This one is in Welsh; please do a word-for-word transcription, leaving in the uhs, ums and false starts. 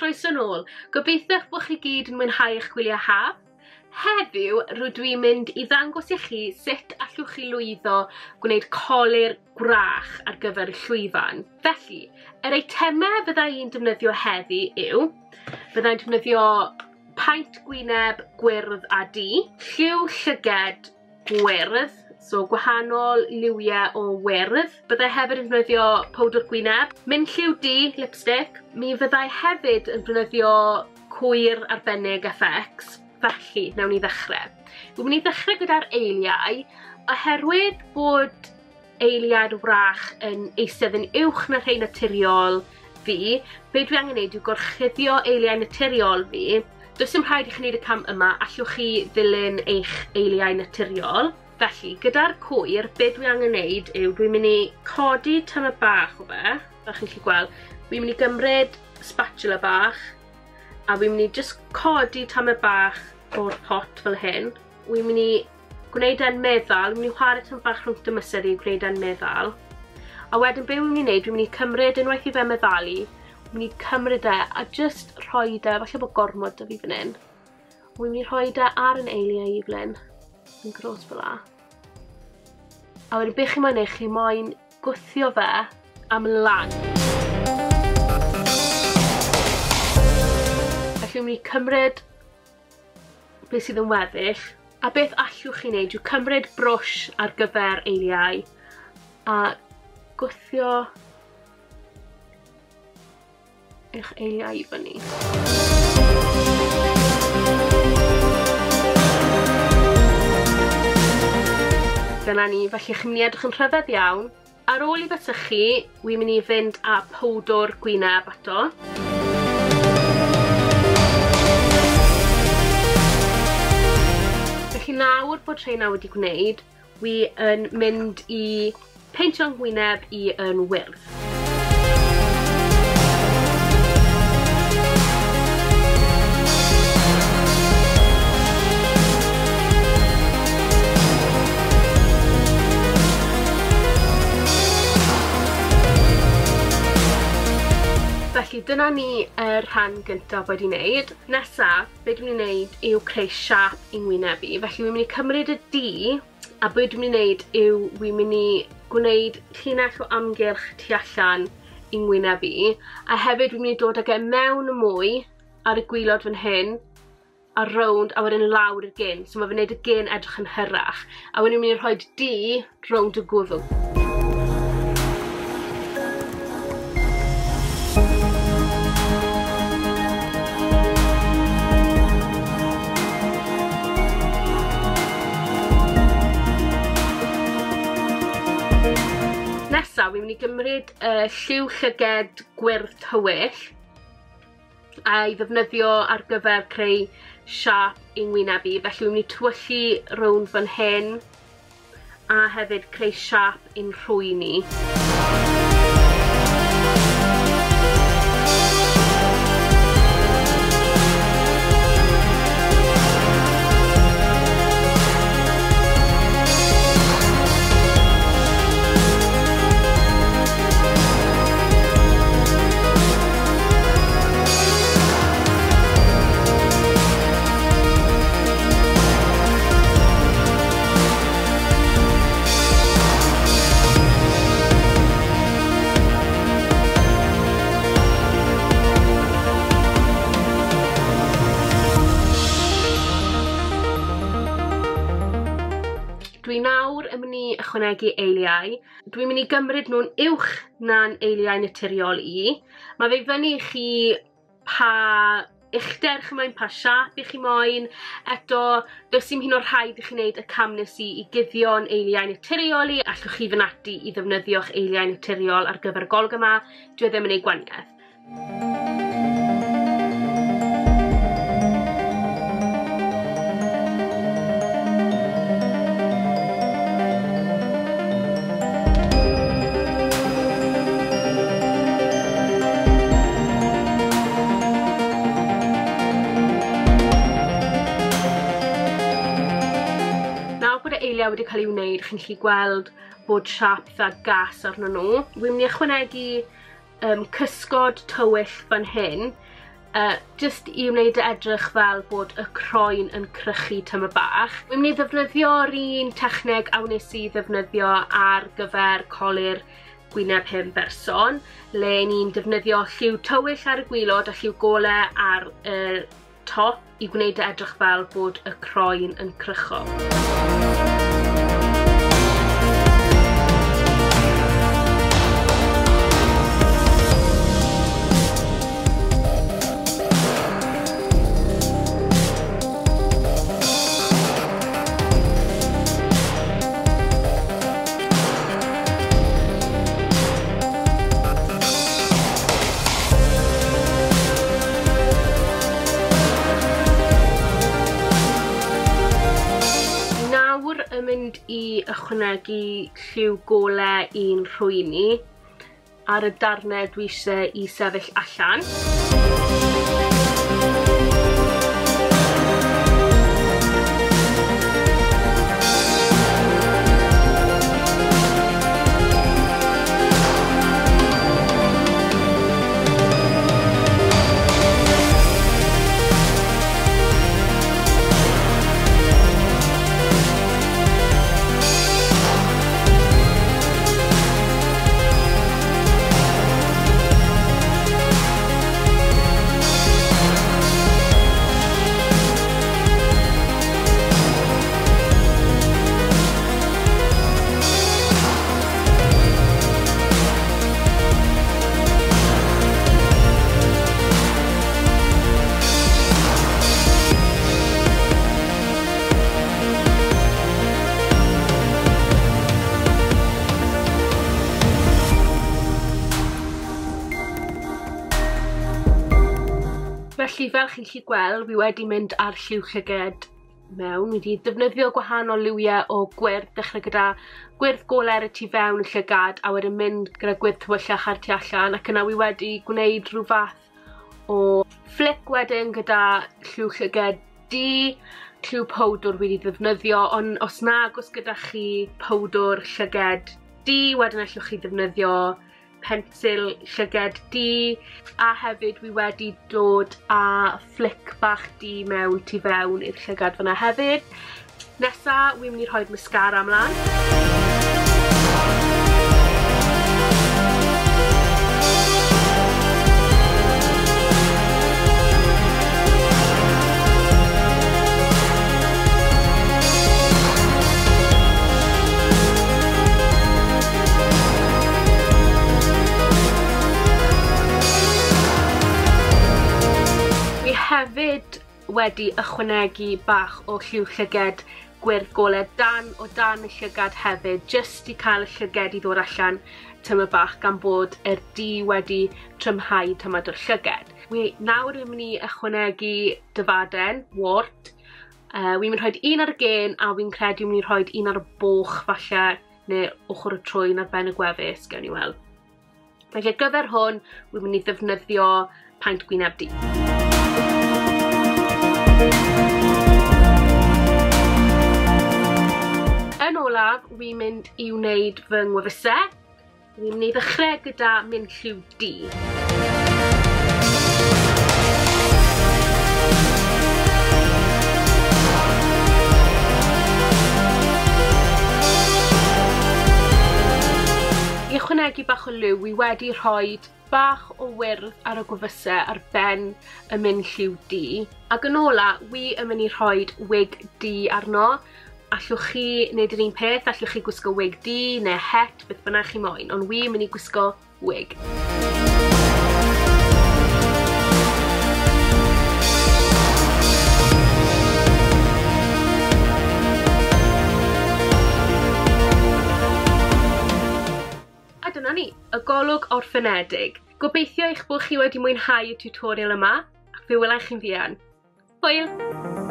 croeso nôl. Gobeithio bod chi gyd yn mwynhau eich gwyliau haf. Heddiw rydw i'n mynd i ddangos i chi sut allwch chi lwyddo gwneud colur gwrach ar gyfer y llwyfan. Felly, yr eitemau fydda i'n defnyddio heddi yw, fydda i'n defnyddio paent gwyneb gwyrdd a du, lliw llyged gwyrdd, so gwahanol liwiau o wyrdd. Byddai hefyd yn defnyddio powdr gwyneb, minlliw du, lipstick. Mi fyddai hefyd yn defnyddio cwyr arbennig F X. Felly, nawn ni ddechrau. Dwi'n mynd i ddechrau gyda'r eiliau, oherwydd bod eiliad wrach yn eistedd yn uwch na rhai naturiol fi, be dwi angen neud yw gorchuddio eiliau naturiol fi. Does dim rhaid i chi wneud y cam yma, allwch chi ddilyn eich eiliau naturiol. Felly, gyda'r cwyr, be dwi angen neud yw dwi'n mynd i codi tymed bach o fe, fel chi'n gallu gweld. Dwi'n mynd i gymryd spatula bach, a dwi'n mynd i just codi tymed bach o'r pot fel hyn. Dwi'n mynd i gwneud e'n meddal, dwi'n mynd i chwarae tymed bach rhwng dy mysedd i gwneud e'n meddal. A wedyn be dwi'n mynd i wneud, dwi'n mynd i cymryd unwaith i fe meddalu, dwi'n mynd i cymryd e a just rhoi e, falle bod gormod 'da fi fan hyn. Dwi'n mynd i rhoi e ar yn eiliau i fel hyn, yn gros fel 'a. A wedyn be chi moyn neud, chi moyn gwthio fe am lan. Felly dwi'n mynd i cymryd beth sydd yn weddill, a beth allwch chi wneud yw cymryd brwsh ar gyfer eiliau a gwthio eich eiliau i fyny. Dyna ni, felly chi'n mynd i edrych yn rhyfedd iawn. Ar ôl i fe sychu, wi'n mynd i fynd â powdr gwyneb ato. Felly nawr bod rheina wedi gwneud, wi yn mynd i peintio'n gwyneb i yn wyrdd. Felly dyna ni yr rhan gyntaf wedi wneud. Nesa, be dwi'n mynd i wneud yw creu siâp i'n ngwyneb i. Felly dwi'n mynd i cymryd y du, a be dwi'n mynd i wneud yw dwi'n mynd i gwneud llinell o amgylch tu allan i'n ngwyneb i. A hefyd dwi'n mynd i dod ag e mewn mwy ar y gwilod fan hyn, a rownd, a wedyn lawr y gyn. So mae fe'n gwneud y gyn edrych yn hyrach. A wedyn dwi'n mynd i rhoi du rownd y gwddw. Nesa, wi'n mynd i gymryd y lliw llyged gwyrdd tywyll a'i ddefnyddio ar gyfer creu siâp i'n ngwyneb i. Felly wi'n mynd i tywyllu rownd fan hyn a hefyd creu siâp i'n rhwyn i. Dwi nawr yn mynd i ychwanegu eiliau. Dwi'n mynd i gymryd nhw'n uwch na'n eiliau naturiol i. Mae fe fyny i chi pa uchder chi moyn, pa siâp i chi moyn. Eto, does dim hyn o'r rhaid i chi wneud y cam nes i i guddio'n eiliau naturiol i. Allwch chi fynd ati i ddefnyddio'ch eiliau naturiol ar gyfer y golwg yma. Dwi ddim yn ei gwahaniaeth. Eiliau wedi cael ei wneud, chi'n gallu gweld bod siâp eitha gas arno nhw. Wi'n mynd i ychwanegu um, cysgod tywyll fan hyn. Uh, just i wneud e edrych fel bod y croen yn crychu tyma bach. Wi'n mynd i ddefnyddio'r un techneg a wnes i ddefnyddio ar gyfer colur gwyneb hen berson, le ni'n defnyddio lliw tywyll ar y gwilod a lliw gole ar y top i gwneud e edrych fel bod y croen yn crycho. Mynd i ychwanegu lliw gole i'n rhwyn i ar y darnau dwi eisiau i sefyll allan. Felly, fel chi'n gallu gweld, fi wedi mynd ar lliw llyged mewn. Fi wedi defnyddio gwahanol liwiau o gwyrdd, dechrau gyda gwyrdd golau ar y tu fewn y llygad a wedyn mynd gyda gwyrdd tywyllach ar tu allan, ac yna wi wedi gwneud rhyw fath o flick wedyn gyda lliw llyged du, lliw powdwr wedi ddefnyddio, ond os nag oes gyda chi powdwr llyged du, wedyn allwch chi ddefnyddio pensil llyged du, a hefyd wi wedi dod â flick bach du mewn tu fewn i'r llygad fyna hefyd. Nesa, wi'n mynd i rhoi mascara ymlaen. Hefyd wedi ychwanegu bach o lliw llyged gwyrdd golau dan o dan y llygad hefyd, jyst i cael y llyged i ddod allan tyma bach gan bod yr du wedi trymhau tymad o'r llyged. Wi nawr yn mynd i ychwanegu dyfaden, wart. Uh, wi'n mynd rhoi un ar y gen a wi'n credu wi'n mynd i rhoi un ar y boch falle, neu ochr y trwyn ar ben y gwefus, gewn ni weld. Felly ar gyfer hwn, wi'n mynd i ddefnyddio paent gwyneb du. Yn olaf, wi'n mynd i wneud fy ngwefusau. Wi'n mynd i ddechrau gyda mynd lliw du. I ychwanegu bach o liw, wi wedi rhoi bach o wyrdd ar y gwefusau ar ben y mynd lliw du. Ac yn ola, wi yn mynd i rhoi wig du arno. Allwch chi wneud yr un peth, allwch chi gwisgo wig du neu het, beth bynnag chi moyn, ond wi yn mynd i gwisgo wig. A dyna ni, y golwg orffenedig. Gobeithio eich bod chi wedi mwynhau y tutorial yma, ac fe welai chi'n fuan. Hwyl!